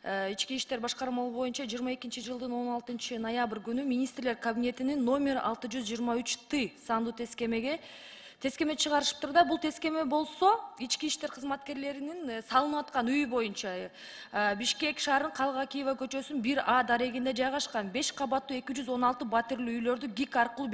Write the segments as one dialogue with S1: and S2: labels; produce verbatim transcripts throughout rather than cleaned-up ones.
S1: Ички иштер башкармалыгы боюнча жыйырма экинчи жылдын он алтынчы ноябрь күнү министрлер кабинетинин номер алты жүз жыйырма үч Т сандуу тескемеге тескеме чыгарышыптыр да. Бул тескеме болсо ички иштер кызматкерлеринин салынып аткан үй боюнча Бишкек шаарынын Калгакиева көчөсүнүн бир А дарегинде жайгашкан беш кабаттуу эки жүз он алты батирлүү үйлөрдү ГИК аркылуу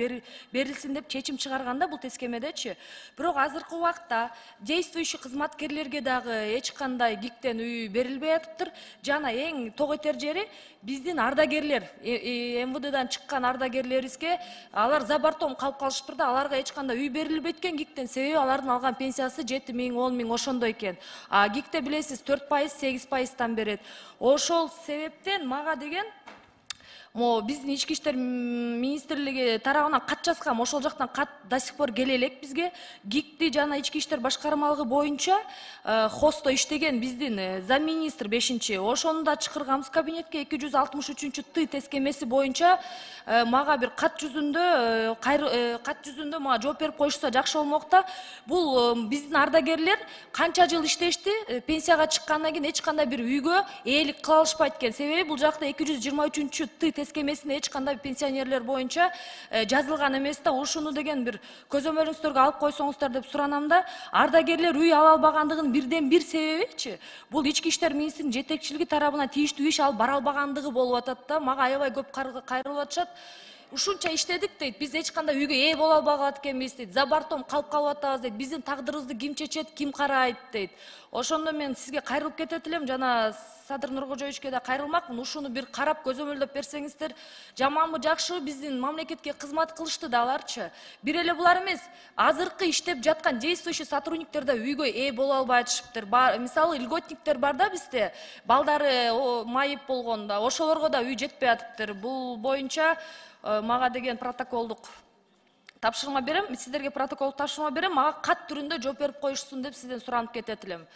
S1: берилсин деп чечим чыгарганда бул тескемедечи. Бирок азыркы убакта действующий кызматкерлерге дагы эч кандай ГИКтен үй берилбей атыптыр. Жана эң тоготер жери биздин ардагерлер, эм вэ дэдан чыккан ардагерлерибизге алар забартом калып калышыптыр да, аларга эч кандай үй берилбейт экен ГИКтен, себеби алардын алган пенсиясы жети миң, он миң ошондой экен. А ГИКте билесиз төрт пайыз, сегиз пайыздан берет. Ошол себептен мага деген Мо биздин ички иштер министрлиги тарабынан кат жазгам, ошол жактан кат до сих пор келе элек бизге. ГИКти жана ички иштер башкармалыгы боюнча хосто иштеген биздин замминистр бешинчи ошону да чакырганбыз кабинетке. эки жүз алтымыш үчүнчү Т тескемеси боюнча мага бир кат жүзүндө кат жүзүндө мага жооп берип коюшса жакшы болмок да. Бул биздин ардагерлер канча жыл иштешти, пенсияга чыккандан кийин эч кандай бир үйгө ээлик кыла алышпайт экен. Себеби бул жакта эки жүз жыйырма үчүнчү Т тескемесинде эч кандай пенсионерлер боюнча жазылган эмес да. Ушуну деген бир көзөмөлүңүздөргө алып койсоңуздар деп суранам да. Ардагерлер үй ала албагандыгынын бирден бир себебичи бул ички иштер министринин жетекчилиги тарабынан тийиштүү иш алып бара албагандыгы болуп атат да. Мага аябай көп кайрылып атышат. Ушунча иштедик дейт, биз эч кандай үйгө ээ боло албагат экенбиз дейт, забартом калып калып атабыз дейт, биздин тагдырыбызды ким чечет, ким карайт дейт. Ошондо мен сизге кайрылып кетет элем, жана Садыр Нуркожоевичке да кайрылмакмын. Ушуну бир карап көзөмөлдөп берсеңиздер, жаманбы жакшыбы биздин мамлекетке кызмат кылышты да аларчы. Бир эле булар эмес, азыркы иштеп жаткан действующий сотрудниктер да үйгө ээ боло албай атышыптыр. Мисалы льготниктер бар да бизде, балдары майып болгондо, ошолорго да үй жетпей атыптыр. Бул боюнча мага деген протоколдук тапшырма берем, сиздерге протоколдук тапшырма берем, мага кат түрүндө жооп берип коюшсун деп сизден суранып кетет элем.